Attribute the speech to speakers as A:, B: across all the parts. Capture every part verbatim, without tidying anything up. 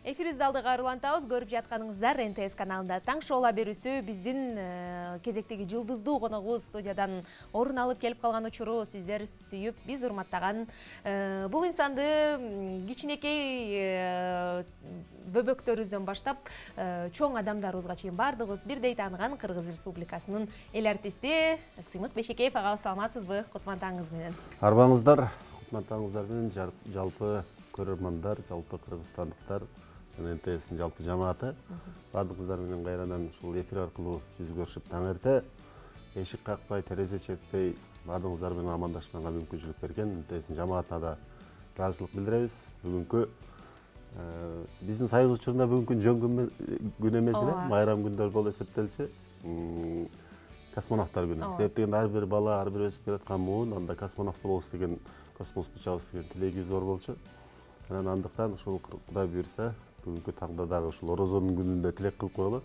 A: Эфирибизди алдыга кайрылантабыз. Көрүп жатканыңыздар эн тэ эс каналында таң шоула берүүсү. Биздин кезектеги жылдыздуу коногубуз студиядан орун алып келип калган учуру сиздер сүйүп, биз урматтаган бул инсанды кичинекей бөбөктөрүбүздөн баштап чоң адамдарыбызга чейин баардыгыбыз бирдей тааныган Кыргыз Республикасынын эл артисти Сыймык Бешекеев ага саламатсызбы? Кутман таңыңыз менен.
B: Арбаңыздар, кутман таңыңыздар менен жалпы көрөрмандар, жалпы кыргызстандыктар, эн тэ эстин жалпы жамааты баардыгыңыздар менен кайрадан ушул эфир аркылуу жүз көрүшүп таң эрте эшик какпай, терезе чертпей баардыгыңыздар менен амандашканга мүмкүнчүлүк берген эн тэ эстин жамаатына да ыраазычылык билдиребиз. Бүгүнкү биздин союз учурунда бүгүнкү жөн күн эмес эле, майрам күндөр болуп эсептелчү. Космонавттар күнү. Себеп дегенде ар бир бала, ар бир өсүп келаткан муун анда космонавт болобуз деген, космоско учабыз деген тилеги зор болчу. Анан андыктан ушул Кудай буйрса, бүгүнкү таңда дагы ушул Орозонун күнүндө тилек кылып коелу.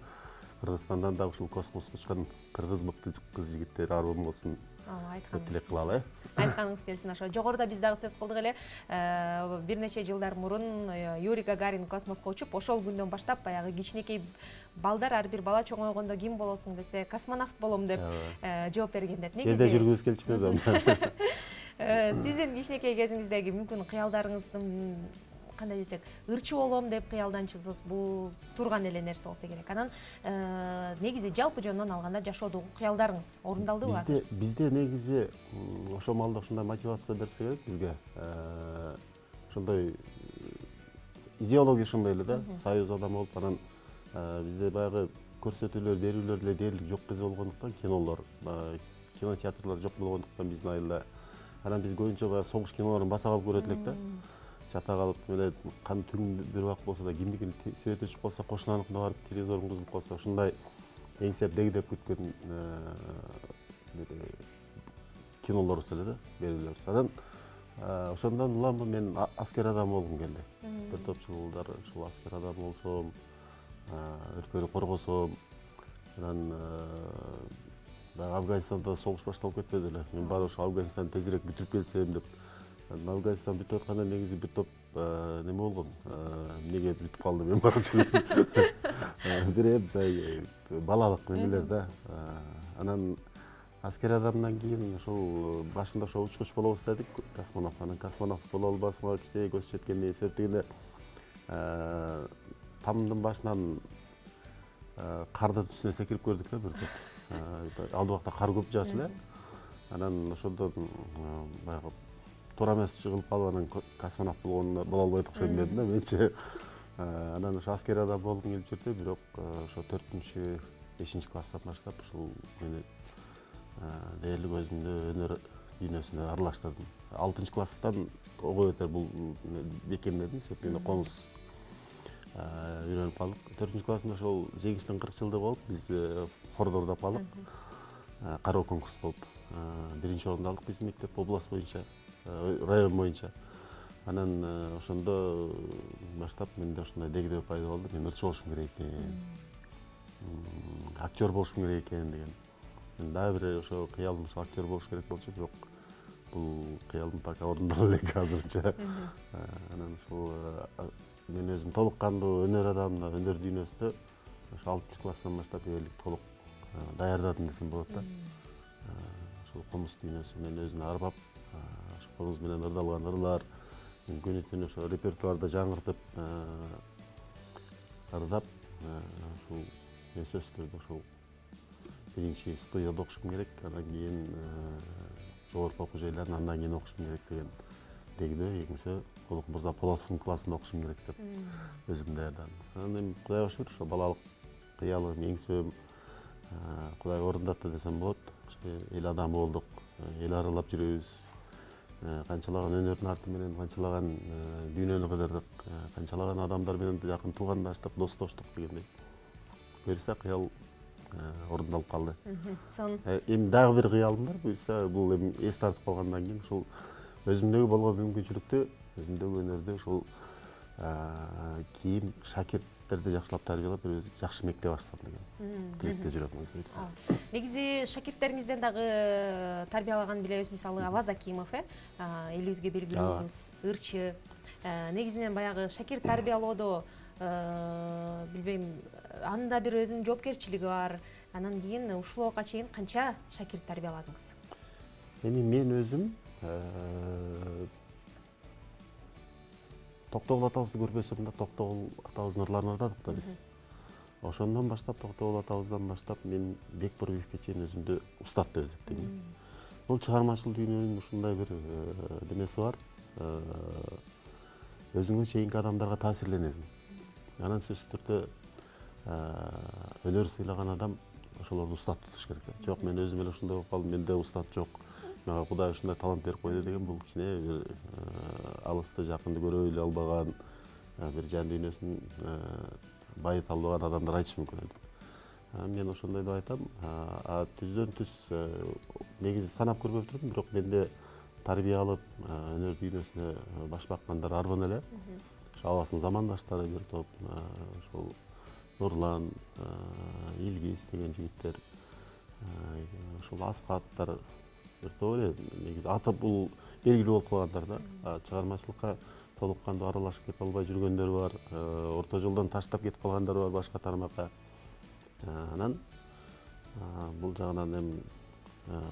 B: Кыргызстандан да ушул космоско учкан кыргыз мыкты кыз-жигиттер арман болсун деп тилек кылалы.
A: Айтканыңыз келсин ошо. Жогоруда биз дагы сөз кылдык эле. Бир нече жылдар мурун Юрий Гагарин космоско учуп, ошол күндөн баштап баягы кичинекей балдар, ар бир бала чоңойгондо ким болосуң десе, космонавт болом деп жооп берген деп.
B: Негизи элде жүргүбүз келчүппүз анда.
A: Сиздин кичинекей кезиңиздеги мүмкүн кыялдарыңыздын кандай десек, ырчы болом деп кыялданчысыз, бул турган эле нерсе болсо керек. Анан негизи жалпы жөндөн алганда жашоодогу кыялдарыңыз орундалдыбы азыр?
B: Бизде бизде негизи ошол маалда ушундай мотивация берсе керек бизге. Ошондой идеология ушундай эле да, союз адамы болуп, анан бизде баягы көрсөтүүлөр, берүүлөр деле дээрлик жок кези болгондуктан, кинолор, кинотеатрлар жок болгондуктан биздин айылда анан биз көбүнчө баягы согуш кинолорун баса калып көрөт элек да. Чата калып, эле кан түн бир убак болсо да кимдикин свет өчүп калса, кошунаныкына барып телевизорун кызып калса, ушундай эңсеп дегдеп күткөн кинолорубуз эле да, берүүлөр. Анан ошондон улам мен аскер адам болгум келди. Бир топ жылдар ушул аскер адам болсом, өлкөнү коргосом, анан Афганистанда согуш башталып кетпеди эле. Мен баары ошо Афганистанды тезирээк бүтүрүп келсем деп. Афганистан бүтүп атканда негизи бир топ неме болгон. Эмнеге бүтүп калды мен барчу. Бир эп балалык немелер да. Анан аскер адамдан кийин ошол башында ошо учкуч болобуз дедик, космонавт. Анан космонавт боло албасыңа кичине көз жеткенде эсеп дегенде тамдын башынан кардын үстүнө секирип көрдүк да бир топ. Алды убакта кар көп жаачу эле. Анан ошондон баягы туура эмес чыгылып калып, анан космонавт болгондо боло албайт окшойм дедим да менчи. Анан ошо аскер адам болгум келип жүрдү, бирок ошо төртүнчү, бешинчи класстан баштап ушул мени дээрлик өзүмдү өнөр дүйнөсүнө аралаштырдым. алтынчы класстан ого бетер бул бекемдедим, себеп комуз үйрөнүп калдык. төртүнчү классында ошол жеңиштин кырк жылдыгы болуп, биз хордо ордоп калдык. Кароо конкурс болуп, биринчи орунду алдык биздин мектеп область боюнча, район боюнча. Анан ошондо баштап менде ошондой дегдөө пайда болду. Мен ырчы болушум керек экен, актер болушум керек экен деген. Мен дагы бир ошо кыялым ошо актер болуш керек болчу, бирок бул кыялым пока орундалбай элек азырча. Анан ушул мен өзүм толук кандуу өнөр адамына, өнөр дүйнөсүндө ошо алтынчы класстан баштап дээрлик толук даярдадым десем болот да. Ошол комуз дүйнөсү мен өзүнө арбап, ошо комуз менен ырдалган ырлар, күнү түнү ошо репертуарда жаңыртып ырдап, ушул мен сөзсүз түрдө ошол биринчи студияда окушум керек, андан кийин жогорку окуу жайларын андан кийин окушум керек деген дегдөө, экинчиси Улук Мырза Полотовдун классында окушум керек деп өзүм даярдадым. Анан Кудайга шүгүр, ошо балалык кыялым, эңсөөм Кудай орундатты десем болот. Эл адамы болдук, эл аралап жүрөбүз. Канчалаган өнөрдүн арты менен канчалаган дүйнөнү кыдырдык, канчалаган адамдар менен жакын туугандаштык, достоштук дегендей. Буюрса кыял орундалып калды. Эми дагы бир кыялым бар, буюрса бул эми эс тартып калгандан кийин ушул өзүмдөгү болгон мүмкүнчүлүктү, өзүмдөгү өнөрдү ушул кийин шакирттерди жакшылап тарбиялап, бир жакшы мектеп ачсам деген тилекте жүрөм өзүм.
A: Негизи шакирттериңизден дагы тарбиялаган билебиз, мисалы Аваз Акимов, э, элибизге белгилүү ырчы. Негизинен баягы шакирт тарбиялоодо билбейм, анын да бир өзүнүн жоопкерчилиги бар. Анан кийин ушул убакка чейин канча шакирт тарбияладыңыз?
B: Эми мен өзүм Токтогул атабызды көрбөсөм да, Токтогул атабыздын ырларын ырдадык да биз. Ошондон баштап, Токтогул атабыздан баштап мен Бекбурбиевке чейин өзүмдү устат деп эсептейм. Бул чыгармачыл дүйнөнүн ушундай бир демеси бар. Өзүңө чейинки адамдарга таасирленесиң. Анан сөзсүз түрдө өнөр сыйлаган адам ошолорду устат тутуш керек. Жок, мен өзүм эле ушундай болуп калдым, менде устат жок. Мага Кудай ушундай талант берип койду деген бул кичине бир алысты жакынды көрө эле албаган, бир жан дүйнөсүн байыта албаган адамдар айтышы мүмкүн. Мен ошондой деп айтам. А түздөн түз негизи санап көрбөптүрмүн, бирок менде тарбия алып, өнөр дүйнөсүнө баш баккандар арбын эле. Абасын замандаштары бир топ, ошол Нурлан, Илгиз деген жигиттер, ошол Аскаттар бир топ эле негизи аты бул белгилүү болуп калгандар да. Чыгармачылыкка толук кандуу аралашып кете албай жүргөндөр бар, орто жолдон таштап кетип калгандар бар башка тармакка. Анан бул жагынан эми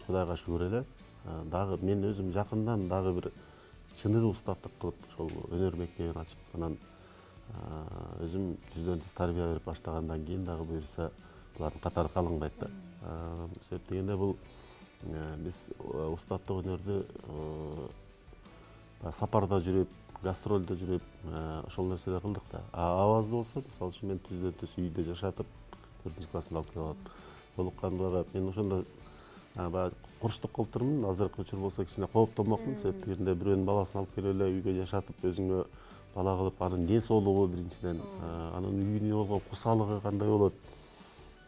B: Кудайга шүгүр эле. Дагы мен өзүм жакындан дагы бир чыныгы устаттык кылып ошол өнөр мектебин ачып, анан өзүм түздөн түз тарбия берип баштагандан кийин дагы буюрса булардын катары калыңдайт да. Себеп дегенде бул биз устаттык өнөрдү сапарда жүрүп, гастролдо жүрүп, ошол нерседе кылдык да. Абазды болсо, мисалы үчүн мен түздөн түз үйдө жашатып, төртүнчү классында алып келип алып, толук кандуу мен ошондо баягы курчтук кылып турмун. Азыркы учур болсо кичине кооптонмокмун, себеп дегенде бирөөнүн баласын алып келип эле үйгө жашатып, өзүңө бала кылып, анын ден соолугу биринчиден, анын үйүнө болгон кусалыгы кандай болот.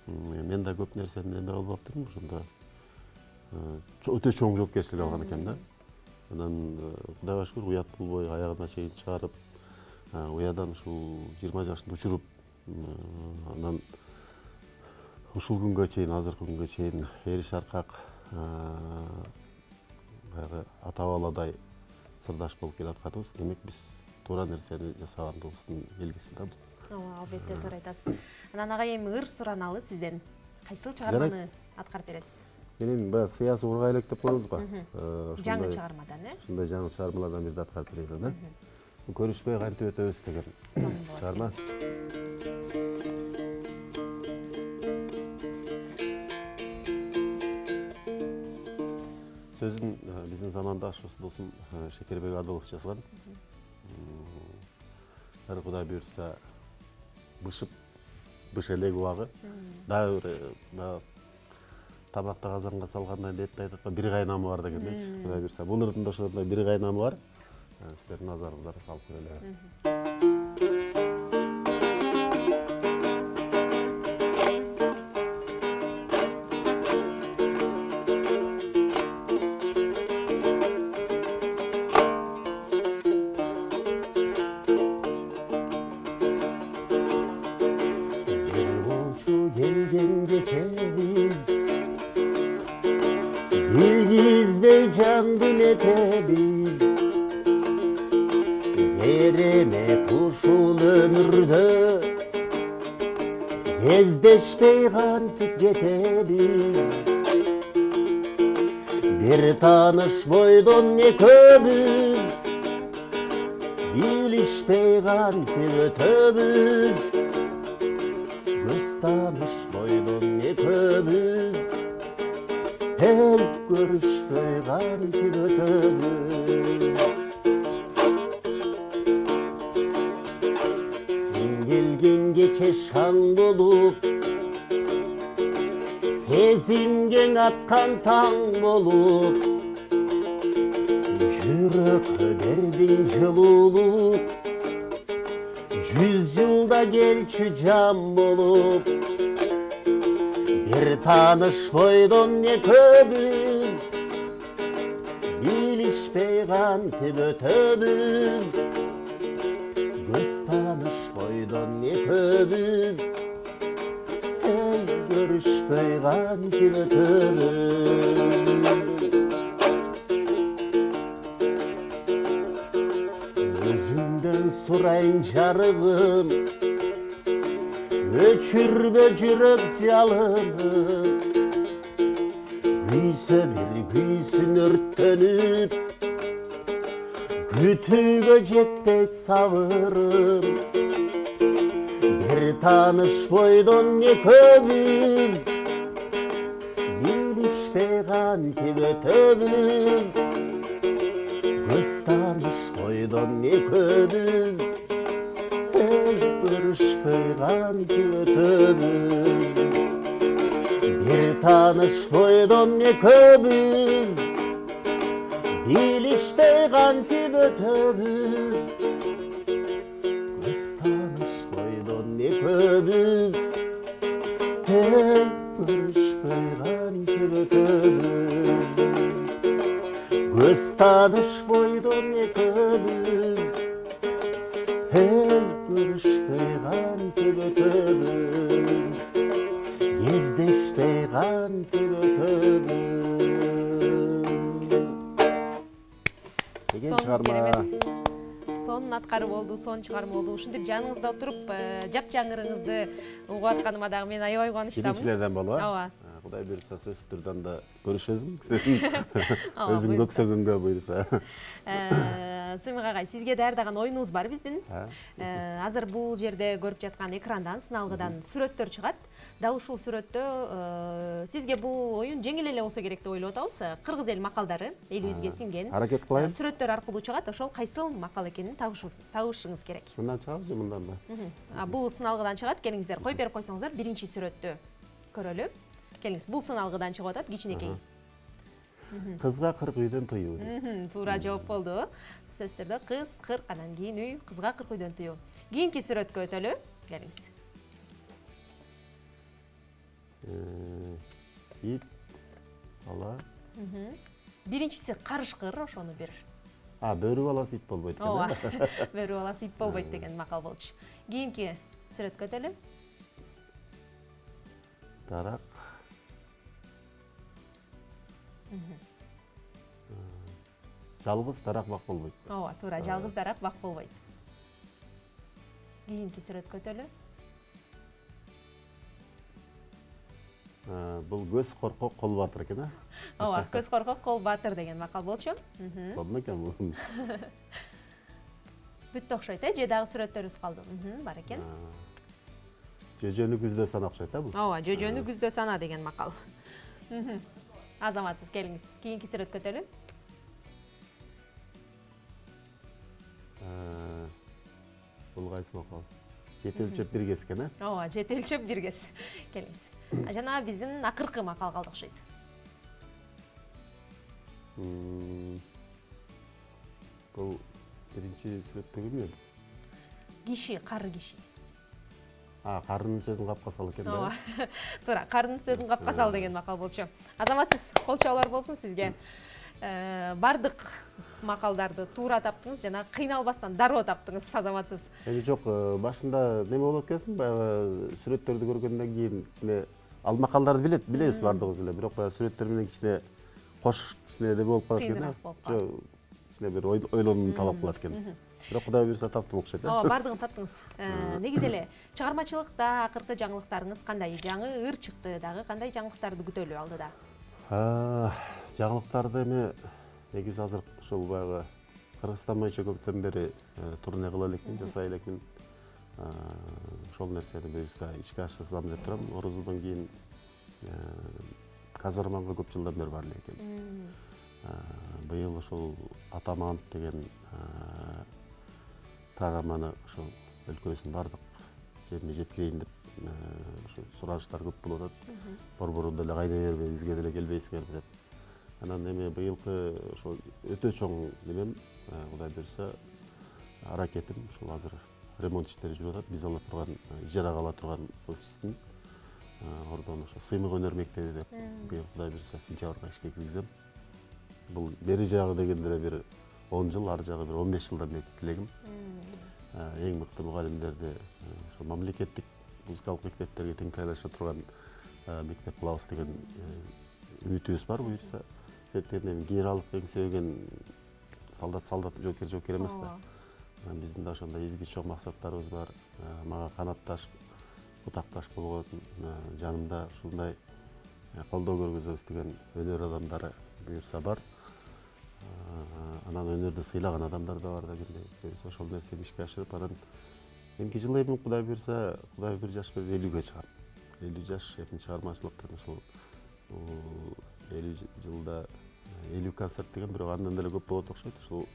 B: Мен да көп нерсени эме кылып алыптырмын, ошондо өтө чоң жоопкерчилик алган экен да. Анан Кудайга шүгүр, уят болбой аягына чейин чыгарып, уядан ушул жыйырма жашында учуруп, анан ушул күнгө чейин, азыркы күнгө чейин эри шаркак баягы ата баладай сырдаш болуп келатканыбыз, демек биз туура нерсени жасагандыгыбыздын белгиси да бул.
A: Ооба, албетте туура айтасыз. Анан ага эми ыр сураналы сизден. Кайсыл чыгарманы аткарып бересиз?
B: Мен эми баягы Сыясы Урга элек деп коебуз го.
A: Жаңы чыгармадан, э?
B: Ушундай жаңы чыгармалардан бирди аткарып берейин да. Бул көрүшпөй кантип өтөбүз деген чыгарма. Сөзүн биздин замандашыбыз досум Шекербек Адылов жазган. Ар Кудай буйрса бышып, быш элек убагы. Дагы бир тамакты казанга салгандан этти айтат, бир кайнамы бар дегендейчи. Кудай буйрса бул ырдында ошондой бир кайнамы бар. Сиздердин назарыңыздарга салып көрөлү.
C: Bilgizbey candım etebiz, Kereme uşul ömürde, Gezdeşpey kantip getebiz. Bir tanış boydon ne köbüz, Bilişpey kantip ötöbüz. Göz tanış boydon ne köbüz, El görüşpöy kantip ötöbüz. Sen gelgen geçe şan bolup, Sezimgen atkan taң bolup, Jürökö berdin жылуулук, Жүз жылда келчү жан болуп. Bir tanış boydon ne köbüz, Bilişpey kantip ötöbüz. Göz tanış boydon ne köbüz, El görüşpey kantip ötöbüz. Özünden surayın jarıgım, өчүрбө жүрөк жалыны күйсө бир күйсүн өрттөнүп күтүүгө жетпейт сабырым бир тааныш бойдон экөөбүз билишпей кантип өтөбүз көз тааныш бойдон экөөбүз көрүшпөй кантип өтөбүз бир тааныш бойдон экөөбүз билишпей кантип өтөбүз көз тааныш бойдон экөөбүз көрүшпөй кантип өтөбүз көз тааныш бойдон экөөбүз көрүшпөй кантип өтөбүз кездешпей кантип өтөбүз деген чыгарма.
A: Сонун аткары болду, сонун чыгарма болду. Ушинтип жаныңызда отуруп, жапжаңырыңызды угуп атканыма дагы мен аябай кубанычтамын.
B: Биринчилерден болуп,
A: ооба.
B: Кудай буюрса сөзсүз түрдөн да көрүшөсүң. Өзүң көксөгөнгө буюрса.
A: Сымык агай, сизге даярдаган оюнубуз бар биздин. Азыр бул жерде көрүп жаткан экрандан, сыналгыдан сүрөттөр чыгат. Дал ушул сүрөттө сизге бул оюн жеңил эле болсо керек деп ойлоп атабыз. Кыргыз эл макалдары элибизге сиңген.
B: Аракет кылайын.
A: Сүрөттөр аркылуу чыгат, ошол кайсыл макал экенин табышыңыз керек.
B: Мындан чыгабы же мындан да?
A: Бул сыналгыдан чыгат. Келиңиздер, коюп берип койсоңуздар, биринчи сүрөттү көрөлү. Келиңиз, бул сыналгыдан чыгып атат, кичинекей.
B: Кызга кырк үйдөн тыюу.
A: Туура жооп болду. Сөздөрдө кыз кырк, анан кийин үй, кызга кырк үйдөн тыюу. Кийинки сүрөткө өтөлү. Келиңиз.
B: Ит, бала.
A: Биринчиси карышкыр, ошону бир.
B: А, бөрү баласы ит болбойт экен.
A: Ооба. Бөрү баласы ит болбойт деген макал болчу. Кийинки сүрөткө өтөлү.
B: Дарак. Жалгыз дарак бак болбойт.
A: Ооба, туура, жалгыз дарак бак болбойт. Кийинки сүрөткө өтөлү.
B: Бул көз коркок кол батыр экен, а?
A: Ооба, көз коркок кол батыр деген макал болчу.
B: Сонун экен бул.
A: Бүттү окшойт, э? Же дагы сүрөттөрүбүз калды. Бар экен.
B: Жөжөнү күздө сана окшойт, а бул?
A: Ооба, жөжөнү күздө сана деген макал. Азаматсыз, келиңиз. Кийинки сүрөткө өтөлү.
B: Бул кайсы макал? Жети өлчөп бир кес экен, э?
A: Ооба, жети өлчөп бир кес. Келиңиз. Жана биздин акыркы макал калды окшойт.
B: Бул биринчи сүрөттөгү эмне?
A: Киши, кары киши.
B: А, карынын сөзүн капка сал экен да.
A: Ооба. Туура, карынын сөзүн капка сал деген макал болчу. Азаматсыз, кол чабуулар болсун сизге. Бардык макалдарды туура таптыңыз жана кыйналбастан дароо таптыңыз, азаматсыз.
B: Эми жок, башында неме болот экенсиң, баягы сүрөттөрдү көргөндөн кийин кичине ал макалдарды билет, билебиз бардыгыбыз эле, бирок баягы сүрөттөр менен кичине кош кичине эле болуп калат экен. Жок, кичине бир ойлонууну талап кылат экен. Бирок Кудай буюрса таптым окшойт.
A: Ооба, бардыгын таптыңыз. Негизи эле чыгармачылыкта акыркы жаңылыктарыңыз кандай? Жаңы ыр чыкты, дагы кандай жаңылыктарды күтөлү алдыда?
B: Жаңылыктарды эми негизи азыр ушул баягы Кыргызстан боюнча көптөн бери турне кыла элекмин, жасай элекмин. Ошол нерсени буюрса ишке ашырсам деп турам. Орозодон кийин Казарманга көп жылдан бери бар эле экен. Быйыл ошол Атаманов деген программаны ошол өлкөбүздүн бардык жерине жеткирейин деп сураныштар көп болуп атат. Борборун деле кайнай бербей, бизге деле келбейсиңерби деп. Анан эми быйылкы ошол өтө чоң немем, Кудай буюрса аракетим ошол азыр ремонт иштери жүрүп атат. Биз ала турган, ижарага ала турган офистин ордон ошо сыймык өнөр мектеби деп быйыл Кудай буюрса сентябрга ишке киргизем. Бул бери жагы дегенде бир он жыл, ар жагы бир он беш жылдан бери тилегим. Эң мыкты мугалимдерди ошо мамлекеттик музыкалык мектептерге тең даярдаша турган мектеп кылабыз деген үмүтүбүз бар буюрса. Себептен генералдык эңсебеген солдат солдат жоокер жоокер эмес да. Биздин да ошондой изги чоң максаттарыбыз бар. Мага канатташып бутакташ болгон жанымда ушундай колдоо көргөзөбүз деген өнөр адамдары буюрса бар. Анан өнөрдү сыйлаган адамдар да бар да кимде буюрса ошол нерсени ишке ашырып, анан эмки жылы эми Кудай буюрса, Кудай бир жаш берсе элүүгө чыгам. элүү жаш эми чыгармачылыктын ушул элүү жылда элүү концерт деген, бирок андан деле көп болот окшойт. Ушул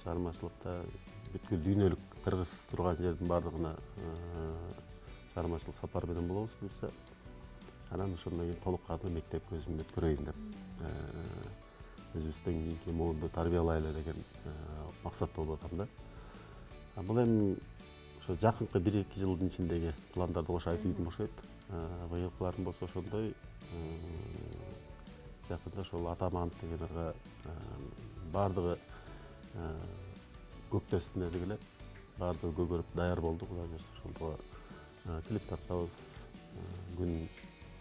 B: чыгармачылыкта бүткүл дүйнөлүк кыргыз турган жердин баардыгына чыгармачылык сапар менен болобуз буюрса. Анан ошондон кийин толук кандуу мектепке өзүмдү өткөрөйүн деп, өзүбүздөн кийинки муунду тарбиялайлы деген максатта болуп атам да. Бул эми ошо жакынкы бир эки жылдын ичиндеги пландарды кошо айтып ийдим окшойт. Быйылкыларым болсо ошондой, жакында ошол Атаман деген ырга баардыгы көктөсүнө эле баардыгы көгөрүп даяр болду. Кудай буюрса ошондо клип тартабыз, күн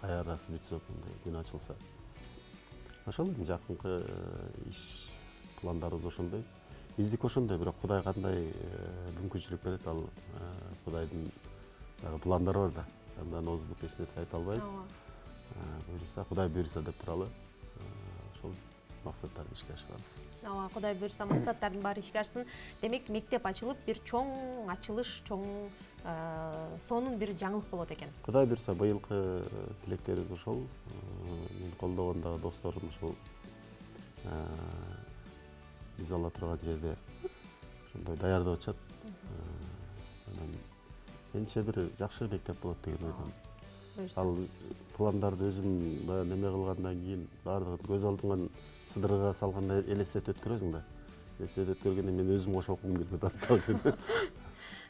B: аярасы бүтсө, күн ачылса. Ошол эми жакынкы иш пландарыбыз ошондой. Биздики ошондой, бирок Кудай кандай мүмкүнчүлүк берет, ал Кудайдын пландары бар да. Андан озулуп эч нерсе айта албайбыз. Буюрса, Кудай буюрса деп туралы. Ошол максаттарды ишке ашырабыз.
A: Ооба, Кудай буюрса максаттардын баары ишке ашсын. Демек, мектеп ачылып, бир чоң ачылыш, чоң сонун бир жаңылык болот экен.
B: Кудай буюрса быйылкы тилектерибиз ошол. Мен колдогондогу досторум ушул биз ала турган жерде ошондой даярдап атышат. Анан менче бир жакшы мектеп болот деген ойдомун. Ал пландарды өзүм баягы неме кылгандан кийин баардыгын көз алдыңан сыдырга салгандай элестетип өткөрөсүң да. Элестетип өткөргөндө мен өзүм кошо окугум келип атат.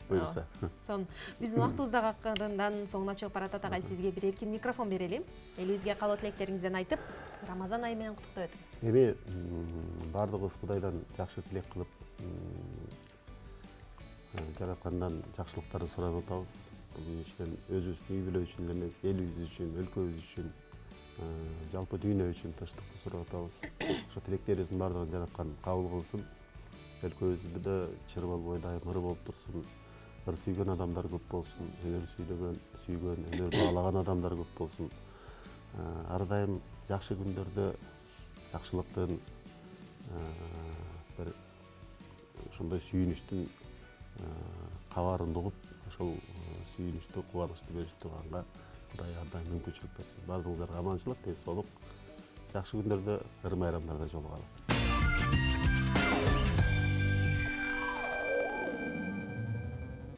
B: Буюрса.
A: Сон биздин убактыбыз дагы акырындан соңуна чыгып баратат. Агай, сизге бир эркин микрофон берели. Элибизге каалоо тилектериңизден айтып, Рамазан айы менен куттуктап өтүңүз.
B: Эми баардыгыбыз Кудайдан жакшы тилек кылып, жараткандан жакшылыктарды суранып атабыз. Бул иштен өзүбүздүн үй бүлө үчүн эле эмес, элибиз үчүн, өлкөбүз үчүн, жалпы дүйнө үчүн тынчтыкты сурап атабыз. Ошо тилектерибиздин баардыгын жараткан кабыл кылсын. Өлкөбүздө чыр болбой дайым ыр болуп турсун. Ыр сүйгөн адамдар көп болсун, өнөр сүйгөн, сүйгөн, өнөр баалаган адамдар көп болсун. Ар дайым жакшы күндөрдө жакшылыктын, бир ошондой сүйүнүчтүн кабарын угуп, ошол сүйүнүчтү, кубанычты берип турганга Кудай ар дайым мүмкүнчүлүк берсин. Баардыгыңыздарга аманчылык, тез соолук. Жакшы күндөрдө, ыр майрамдарда жолугалы.